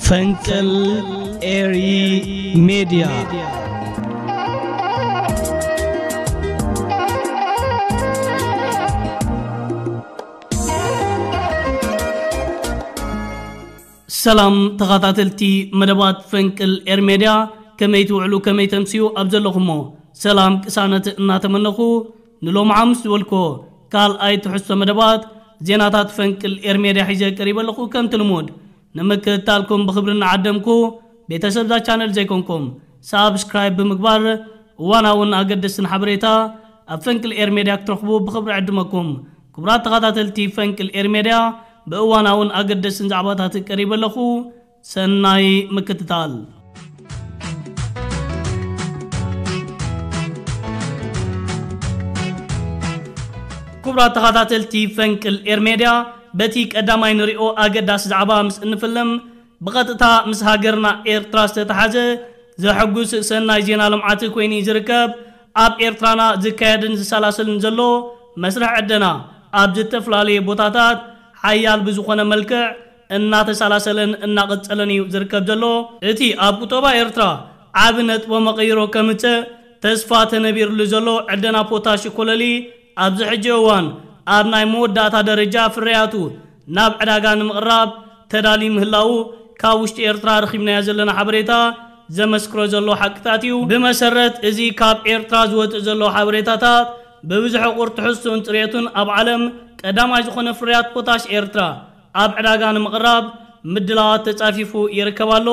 ፈንቅል ኤሪ ሜድያ። ሰላም ተኸታተልቲ መደባት ፈንቅል ኤር ሜድያ፣ ከመይ ትውዕሉ፣ ከመይ ተምስዩ ኣብ ዘለኹሞ? ሰላም ቅሳነት እናተመነኹ፣ ንሎሚ ሓሙስ ዝበልኮ ካልኣይ ትሕዝቶ መደባት ዜናታት ፈንቅል ኤር ሜድያ ሒዘ ቀሪበ ኣለኹ። ከምቲ ልሙድ ንምክትታልኩም ብኽብሪ እናዓደምኩ፣ ቤተሰብ እዛ ቻነል ዘይኮንኩም ሳብስክራይብ ብምግባር እዋናውን ኣገደስትን ሓበሬታ ኣብ ፈንቅል ኤር ሜድያ ክትረኽቡ ብኽብሪ ዕድመኩም። ክቡራት ተኸታተልቲ ፈንቅል ኤር ሜድያ፣ ብእዋናውን ኣገደስትን ዛዕባታት ቀሪበ ኣለኹ። ሰናይ ምክትታል። ክቡራት ተኸታተልቲ ፈንቅል ኤር ሜድያ፣ በቲ ቀዳማይ ንሪኦ ኣገዳሲ ዛዕባ ምስ እንፍልም፣ ብቐጥታ ምስ ሃገርና ኤርትራ ዝተተሓዘ ዘሐጉስ ሰናይ ዜና ልምዓት ኮይኑ እዩ ዝርከብ። ኣብ ኤርትራና ዝካየድን ዝሰላሰልን ዘሎ መስርሕ ዕደና ኣብ ዝተፈላለየ ቦታታት ሓያል ብዝኾነ መልክዕ እናተሰላሰለን እናቐጸለን እዩ ዝርከብ ዘሎ። እቲ ኣብ ቁጠባ ኤርትራ ዓቢ ነጥቦ መቐይሮ ከምጽእ ተስፋ ተነቢርሉ ዘሎ ዕደና ፖታሽ ኮለሊ ኣብዚ ሕጂ እዋን ኣብ ናይ መወዳእታ ደረጃ ፍርያቱ ናብ ዕዳጋ ንምቕራብ ተዳልዩ ምህላዉ ካብ ውሽጢ ኤርትራ ረኺብናዮ ዘለና ሓበሬታ ዘመስክሮ ዘሎ ሓቅታት እዩ። ብመሰረት እዚ ካብ ኤርትራ ዝወጽእ ዘሎ ሓበሬታታት ብብዝሒ ቁር ትሕዝቶን ጽሬቱን ኣብ ዓለም ቀዳማይ ዝኾነ ፍርያት ፖታሽ ኤርትራ ኣብ ዕዳጋ ንምቕራብ ምድላዋት ተጻፊፉ ይርከብ ኣሎ።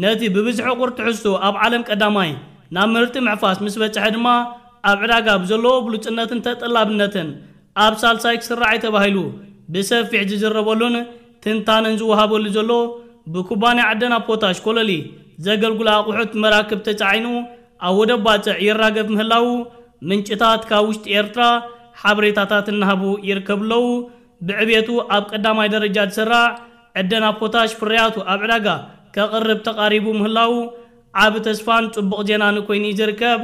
ነቲ ብብዝሒ ቁር ትሕዝቶ ኣብ ዓለም ቀዳማይ ናብ ምህርቲ ምሕፋስ ምስ በጽሐ ድማ ኣብ ዕዳጋ ብዘለዎ ብሉጽነትን ተጠላብነትን ኣብ ሳልሳይ ክስራዕ እዩ ተባሂሉ ብሰፊሕ ዝዝረበሉን ትንታነን ዝወሃበሉ ዘሎ ብኩባንያ ዕደና ፖታሽ ኮለሊ ዘገልግሉ ኣቑሑት መራክብ ተጻዒኑ ኣብ ወደብ ባጽዕ ይራገፍ ምህላዉ ምንጭታት ካብ ውሽጢ ኤርትራ ሓበሬታታት እናሃቡ ይርከቡ ኣለዉ። ብዕቤቱ ኣብ ቀዳማይ ደረጃ ዝስራዕ ዕደና ፖታሽ ፍርያቱ ኣብ ዕዳጋ ከቕርብ ተቓሪቡ ምህላዉ ዓቢ ተስፋን ጽቡቕ ዜናን ኮይኑ እዩ ዝርከብ።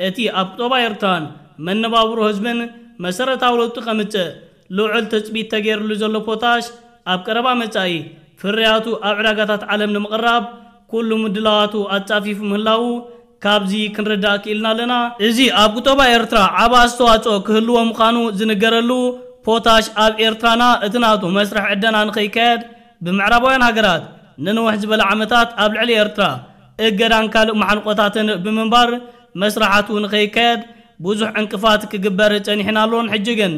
እቲ ኣብ ቁጠባ ኤርትራን መነባብሮ ህዝብን መሰረታዊ ለውጢ ከምጽእ ልዑል ትጽቢት ተገይርሉ ዘሎ ፖታሽ ኣብ ቀረባ መጻኢ ፍርያቱ ኣብ ዕዳጋታት ዓለም ንምቕራብ ኩሉ ምድላዋቱ ኣጻፊፉ ምህላዉ ካብዚ ክንርዳእ ክኢልና ኣለና። እዚ ኣብ ቁጠባ ኤርትራ ዓቢ ኣስተዋጽኦ ክህልዎ ምዃኑ ዝንገረሉ ፖታሽ ኣብ ኤርትራና እቲ ናቱ መስርሕ ዕደና ንኸይካየድ ብምዕራባውያን ሃገራት ንንውሕ ዝበለ ዓመታት ኣብ ልዕሊ ኤርትራ እገዳን ካልእ መሓንቆታትን ብምንባር መስርሓቱ ንኸይካየድ ብዙሕ ዕንቅፋት ክግበር ጸኒሕን ኣሎን። ሕጂ ግን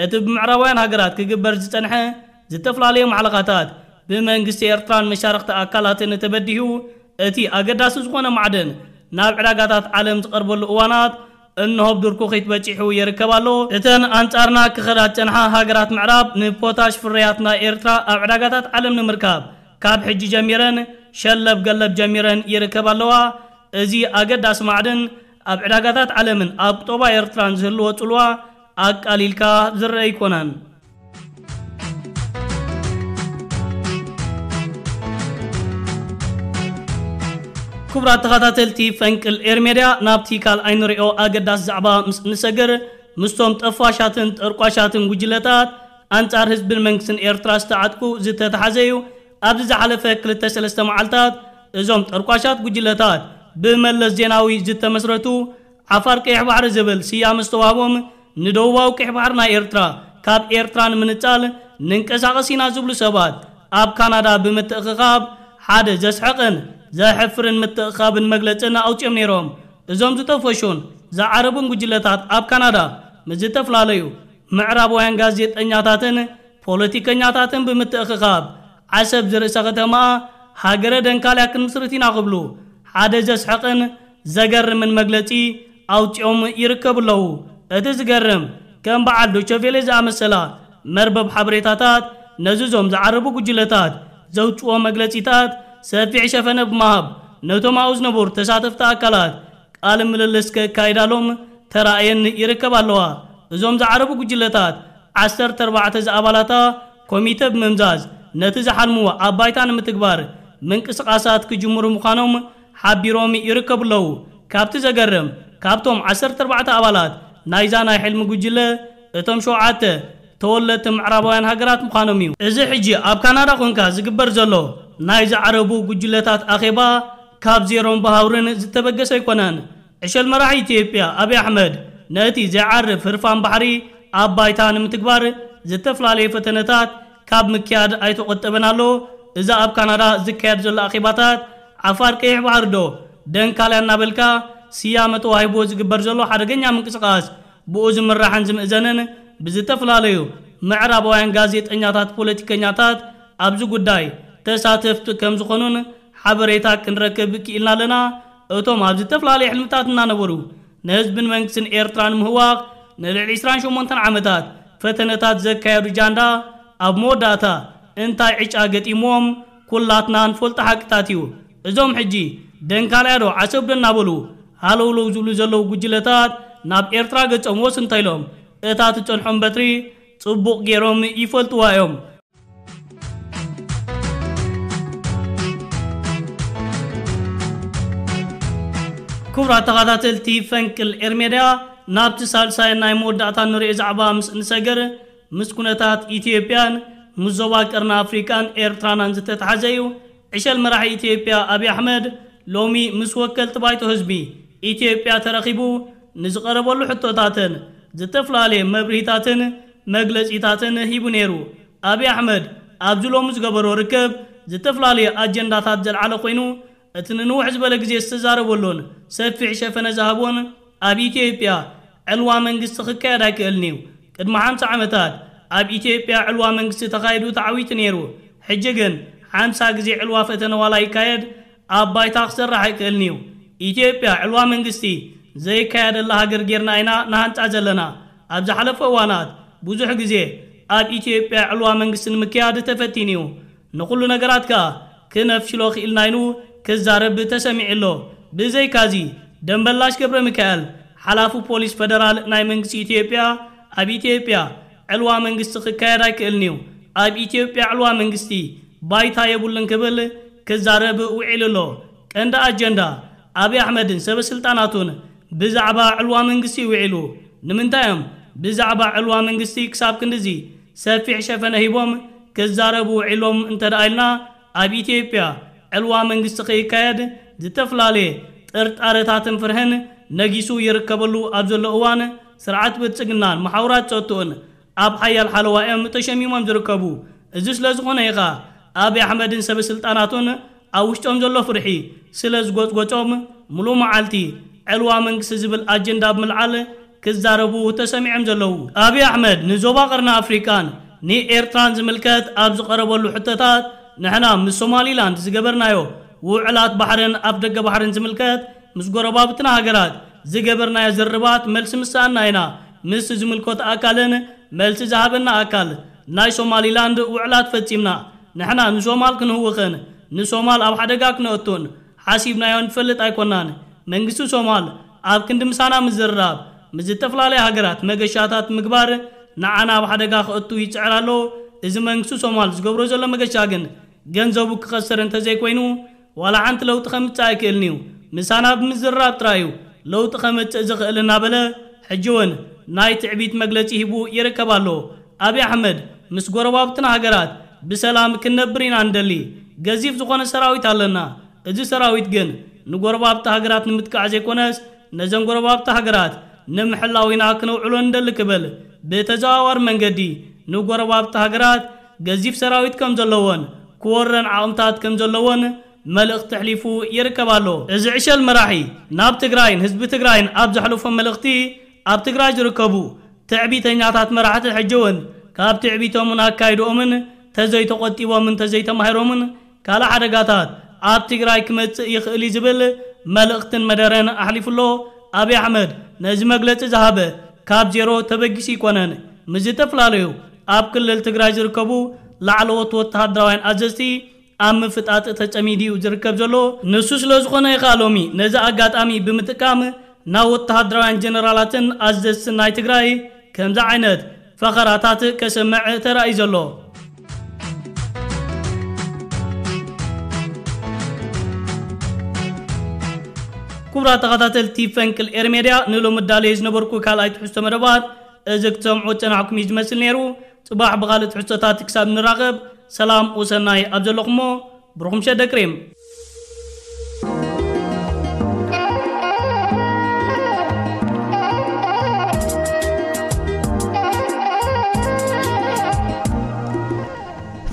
እቲ ብምዕራባውያን ሃገራት ክግበር ዝጸንሐ ዝተፈላለዩ ማዕለኻታት ብመንግስቲ ኤርትራን መሻርኽቲ ኣካላትን ተበዲሁ እቲ ኣገዳሲ ዝኾነ ማዕድን ናብ ዕዳጋታት ዓለም ዝቐርበሉ እዋናት እንሆ ብድርኩኺት በጺሑ ይርከብ ኣሎ። እተን ኣንጻርና ክኸዳ ዝጸንሓ ሃገራት ምዕራብ ንፖታሽ ፍርያት ናይ ኤርትራ ኣብ ዕዳጋታት ዓለም ንምርካብ ካብ ሕጂ ጀሚረን ሸለብ ገለብ ጀሚረን ይርከብ ኣለዋ። እዚ ኣገዳሲ ማዕድን ኣብ ዕዳጋታት ዓለምን ኣብ ቁጠባ ኤርትራን ዝህልዎ ጽልዋ ኣቃሊልካ ዝረአ ኣይኮነን። ክቡራት ተኸታተልቲ ፈንቅል ኤር ሜድያ፣ ናብቲ ካልኣይ ንሪኦ ኣገዳሲ ዛዕባ ምስ እንሰግር፣ ምስቶም ጠፋሻትን ጠርቋሻትን ጉጅለታት ኣንጻር ህዝብን መንግስትን ኤርትራ ዝተዓጥቁ ዝተተሓዘ እዩ። ኣብዚ ዝሓለፈ ክልተ ሰለስተ መዓልታት እዞም ጠርቋሻት ጉጅለታት ብመለስ ዜናዊ ዝተመስረቱ ዓፋር ቀይሕ ባሕሪ ዝብል ስያመ ዝተዋህቦም ንደቡባዊ ቀይሕ ባሕሪ ናይ ኤርትራ ካብ ኤርትራ ንምንጻል ንንቀሳቐስ ኢና ዝብሉ ሰባት ኣብ ካናዳ ብምትእኽኻብ ሓደ ዘስሕቕን ዘሕፍርን ምትእኽኻብን መግለጽን ኣውጺኦም ነይሮም። እዞም ዝጠፈሹን ዝዓረቡን ጉጅለታት ኣብ ካናዳ ምስ ዝተፈላለዩ ምዕራባውያን ጋዜጠኛታትን ፖለቲከኛታትን ብምትእኽኻብ ዓሰብ ዝርእሰ ከተማ ሃገረ ደንካልያ ክንምስርት ኢና ክብሉ ሓደ ዘስሕቕን ዘገርምን መግለጺ ኣውጺኦም ይርከቡ ኣለዉ። እቲ ዝገርም ከም በዓል ዶቸቬሌ ዝኣመሰላ መርበብ ሓበሬታታት ነዚ እዞም ዝዓረቡ ጉጅለታት ዘውጽዎ መግለጺታት ሰፊሕ ሸፈነ ብምሃብ ነቶም ኣብኡ ዝነበሩ ተሳተፍቲ ኣካላት ቃለ ምልልስ ከካይዳሎም ተራእየን ይርከብ ኣለዋ። እዞም ዝዓረቡ ጉጅለታት ዓሰርተ ኣርባዕተ ዝኣባላታ ኮሚተ ብምምዛዝ ነቲ ዝሓልምዎ ኣብ ባይታ ንምትግባር ምንቅስቓሳት ክጅምሩ ምዃኖም ሓቢሮም ይርከቡ ኣለዉ። ካብቲ ዘገርም ካብቶም ዓሰርተ ኣርባዕተ ኣባላት ናይዛ ናይ ሕልሚ ጉጅለ እቶም ሸውዓተ ተወለድቲ ምዕራባውያን ሃገራት ምዃኖም እዩ። እዚ ሕጂ ኣብ ካናዳ ኮንካ ዝግበር ዘሎ ናይ ዝዓረቡ ጉጅለታት ኣኼባ ካብ ዜሮን ብሃውርን ዝተበገሰ ኣይኮነን። ዕሸል መራሒ ኢትዮጵያ ኣብይ ኣሕመድ ነቲ ዘይዓርፍ ህርፋን ባሕሪ ኣብ ባይታ ንምትግባር ዝተፈላለየ ፈተነታት ካብ ምክያድ ኣይተቖጠበን ኣሎ። እዛ ኣብ ካናዳ ዝካየድ ዘሎ ኣኼባታት ዓፋር ቀይሕ ባሕሪ ዶ ደንካልያ እናበልካ ስያመ ተዋሂቦ ዝግበር ዘሎ ሓደገኛ ምንቅስቓስ ብኡ ዝምራሕን ዝምእዘንን ብዝተፈላለዩ ምዕራባውያን ጋዜጠኛታት፣ ፖለቲከኛታት ኣብዚ ጉዳይ ተሳተፍቲ ከም ዝኾኑን ሓበሬታ ክንረክብ ክኢልና ኣለና። እቶም ኣብ ዝተፈላለየ ሕልምታት እናነበሩ ንህዝብን መንግስትን ኤርትራ ንምህዋኽ ንልዕሊ ዕስራን ሸሞንተን ዓመታት ፈተነታት ዘካየዱ ጃንዳ ኣብ መወዳእታ እንታይ ዕጫ ገጢምዎም ኩላትና ንፈልጦ ሓቅታት እዩ። እዞም ሕጂ ደንካልያ ዶ ዓሰብ ዶ እናበሉ ሃለውለው ዝብሉ ዘለዉ ጉጅለታት ናብ ኤርትራ ገጾም ወስ እንተኢሎም እታ ትጸንሖም በትሪ ጽቡቕ ገይሮም ይፈልጥዋ እዮም። ክቡራት ተኸታተልቲ ፈንቅል ኤርሜድያ፣ ናብቲ ሳልሳይ ናይ መወዳእታ ንሪኦ ዛዕባ ምስ እንሰገር፣ ምስ ኩነታት ኢትዮጵያን ምስ ዞባ ቀርኒ ኣፍሪቃን ኤርትራናን ዝተተሓዘ እዩ። ዕሸል መራሒ ኢትዮጵያ ኣብይ ኣሕመድ ሎሚ ምስ ወከልቲ ባይቶ ህዝቢ ኢትዮጵያ ተረኺቡ ንዝቐረበሉ ሕቶታትን ዝተፈላለየ መብርሂታትን መግለጺታትን ሂቡ ነይሩ። ኣብይ ኣሕመድ ኣብዚ ሎሚ ዝገበሮ ርክብ ዝተፈላለየ ኣጀንዳታት ዘልዓለ ኮይኑ፣ እቲ ንንውሕ ዝበለ ግዜ ዝተዛረበሉን ሰፊሕ ሸፈነ ዝሃቦን ኣብ ኢትዮጵያ ዕልዋ መንግስቲ ክካየድ ኣይክእልን እዩ። ቅድሚ ሓምሳ ዓመታት ኣብ ኢትዮጵያ ዕልዋ መንግስቲ ተኻይዱ ተዓዊቱ ነይሩ። ሕጂ ግን ሓምሳ ግዜ ዕልዋ ፈተነ ዋላ ይካየድ ኣብ ባይታ ክሰርሕ ኣይክእልን እዩ። ኢትዮጵያ ዕልዋ መንግስቲ ዘይካየደላ ሃገር ጌርና ኢና ንሃንጻ ዘለና። ኣብ ዝሓለፈ እዋናት ብዙሕ ግዜ ኣብ ኢትዮጵያ ዕልዋ መንግስቲ ንምክያድ ተፈቲኑ እዩ። ንኹሉ ነገራት ከኣ ክነፍሽሎ ክኢልና ኢሉ ክዛረብ ተሰሚዑ ኣሎ። ብዘይካዚ ደንበላሽ ገብረ ሚካኤል ሓላፊ ፖሊስ ፈደራል ናይ መንግስቲ ኢትዮጵያ ኣብ ኢትዮጵያ ዕልዋ መንግስቲ ክካየድ ኣይክእልን እዩ፣ ኣብ ኢትዮጵያ ዕልዋ መንግስቲ ባይታ የብሉን ክብል ክዛረብ ውዒሉ ኣሎ። ቀንዲ ኣጀንዳ ኣብይ ኣሕመድን ሰበ ስልጣናቱን ብዛዕባ ዕልዋ መንግስቲ ውዒሉ። ንምንታይ እዮም ብዛዕባ ዕልዋ መንግስቲ ክሳብ ክንድዚ ሰፊሕ ሸፈነ ሂቦም ክዛረቡ ውዒሎም እንተ ደኣ ኢልና፣ ኣብ ኢትዮጵያ ዕልዋ መንግስቲ ከይካየድ ዝተፈላለየ ጥርጣረታትን ፍርህን ነጊሱ ይርከበሉ ኣብ ዘሎ እዋን፣ ስርዓት ብልጽግናን መሓውራት ጸጥትኡን ኣብ ሓያል ሓለዋ እዮም ተሸሚሞም ዝርከቡ። እዚ ስለ ዝኾነ ኢኻ ኣብይ ኣሕመድን ሰበ ስልጣናቱን ኣብ ውሽጦም ዘሎ ፍርሒ ስለ ዝጎጽጎጾም፣ ምሉእ መዓልቲ ዕልዋ መንግስቲ ዝብል ኣጀንዳ ብምልዓል ክዛረቡ ተሰሚዖም ዘለዉ። ኣብይ ኣሕመድ ንዞባ ቀርኒ ኣፍሪቃን ንኤርትራን ዝምልከት ኣብ ዝቐረበሉ ሕቶታት፣ ንሕና ምስ ሶማሊላንድ ዝገበርናዮ ውዕላት ባሕርን ኣፍ ደገ ባሕርን ዝምልከት ምስ ጎረባብትና ሃገራት ዝገበርናዮ ዝርርባት መልሲ ምሰኣና ኢና ምስ ዝምልከቶ ኣካልን መልሲ ዝሃበና ኣካል። ናይ ሶማሊላንድ ውዕላት ፈጺምና። ንሕና ንሶማል ክንህውኽን ንሶማል ኣብ ሓደጋ ክነእቱን ሓሲብናዮ ንፈልጥ ኣይኮናን። መንግስቲ ሶማል ኣብ ክንዲ ምሳና ምዝርራብ ምስ ዝተፈላለያ ሃገራት መገሻታት ምግባር ንዓና ኣብ ሓደጋ ከእቱ ይጽዕር ኣሎ። እዚ መንግስቲ ሶማል ዝገብሮ ዘሎ መገሻ ግን ገንዘቡ ክኸስር እንተዘይኮይኑ ዋላ ሓንቲ ለውጢ ከምጽእ ኣይክእልን እዩ። ምሳና ብምዝርራብ ጥራይ እዩ ለውጢ ከምጽእ ዝኽእል እናበለ ሕጂ እውን ናይ ትዕቢት መግለጺ ሂቡ ይርከብ ኣሎ። ኣብይ ኣሕመድ ምስ ጎረባብትና ሃገራት ብሰላም ክንነብር ኢና ንደሊ። ገዚፍ ዝኾነ ሰራዊት ኣለና። እዚ ሰራዊት ግን ንጎረባብቲ ሃገራት ንምጥቃዕ ዘይኮነስ ነዘን ጎረባብቲ ሃገራት ንምሕላው ኢና ክነውዕሎ ንደሊ ክብል ብተዘዋዋሪ መንገዲ ንጎረባብቲ ሃገራት ገዚፍ ሰራዊት ከም ዘለዎን ክወረን ዓቕምታት ከም ዘለዎን መልእኽቲ ኣሕሊፉ ይርከብ ኣሎ። እዚ ዕሸል መራሒ ናብ ትግራይን ህዝቢ ትግራይን ኣብ ዘሕለፎ መልእኽቲ፣ ኣብ ትግራይ ዝርከቡ ትዕቢተኛታት መራሕቲ ሕጂ እውን ካብ ትዕቢቶምን ኣካይድኦምን ተዘይተቖጢቦምን ተዘይተማሂሮምን ካልእ ሓደጋታት ኣብ ትግራይ ክመጽእ ይኽእል እዩ ዝብል መልእኽትን መደረን ኣሕሊፉ ኣሎ። ኣብይ ኣሕመድ ነዚ መግለጺ ዝሃበ ካብ ዜሮ ተበጊሱ ኣይኮነን። ምስ ዝተፈላለዩ ኣብ ክልል ትግራይ ዝርከቡ ላዕለዎት ወተሃደራውያን ኣዘዝቲ ኣብ ምፍጣጥ ተጸሚዱ እዩ ዝርከብ ዘሎ። ንሱ ስለ ዝኾነ እዩ ከኣ ሎሚ ነዚ ኣጋጣሚ ብምጥቃም ናብ ወተሃደራውያን ጀነራላትን ኣዘዝትን ናይ ትግራይ ከምዚ ዓይነት ፈኸራታት ከስምዕ ተራእዩ ዘሎ። ክቡራት ተኸታተልቲ ፈንቅል ኤር ሜድያ፣ ንሎሚ ዳለየ ዝነበርኩ ካልኣይ ትሕዝቶ መደባት እዚ ክትሰምዑ ዝጸናሕኩም እዩ ዝመስል ነይሩ። ጽባሕ ብኻልእ ትሕዝቶታት ክሳብ ንራኸብ፣ ሰላም ወሰናይ ኣብ ዘለኹሞ ብሩኽ ምሸት ደቂ ሪም።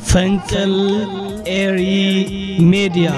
ፈንቅል ኤሪ ሜድያ።